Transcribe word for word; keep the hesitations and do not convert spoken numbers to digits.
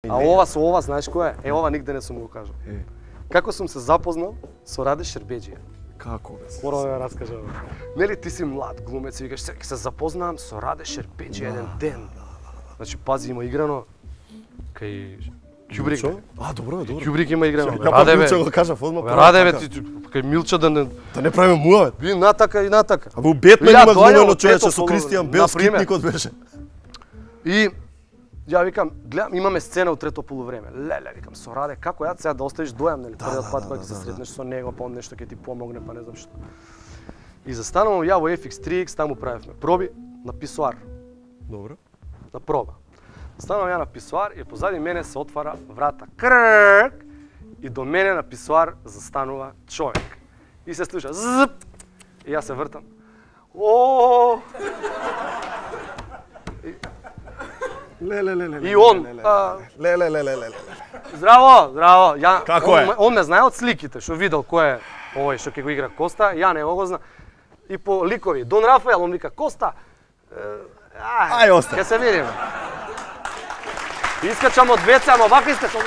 А ова со ова, знаеш кој е? Е, ова нигде не сум го кажал. Е. Како сум се запознал со Раде Шербеџија? Како бе? Морам да ја раскажам. Нели ти си млад глумец и викаш ќе се запознавам со Раде Шербеџија еден ден. Значи пази, има играно кај Ќубрик. А, добро, добро. Ќубрик има играно. Ја Раде бе. Милче го кажав одма. Раде бе, ти кај Милча да не Да не правиме муавет. би натака и натака. А бе Бетмен Ја има доаѓа глумено од човече трето со полу- Кристијан Бел, например. скитникот беше. И ја викам, гледам, имаме сцена од трето полувреме. Леле, викам, со Раде, како ја сега да оставиш дојам, нели? Првиот да, пат да, кога да, ќе се да, сретнеш со него, па он нешто ќе ти помогне, па не знам што. И застанувам ја во Еф Икс три Икс, таму правевме проби на писоар, Добро. на проба. Станувам ја на писоар и позади мене се отвара врата. Крк! И до мене на писоар застанува човек. И се слуша зп. И јас се вртам. О! Ле ле ле ле. И он, а, Ле ле ле ле ле. Здраво, здраво. Ја, Како он, е? Он ме знае од сликите, што видел кој е овој што ќе го игра Коста, ја не го знам. И по ликови, Дон Рафаел, он вика Коста. е, Ај, Ај, остави. ќе се видиме. Искачам од веце, ама вака искачам.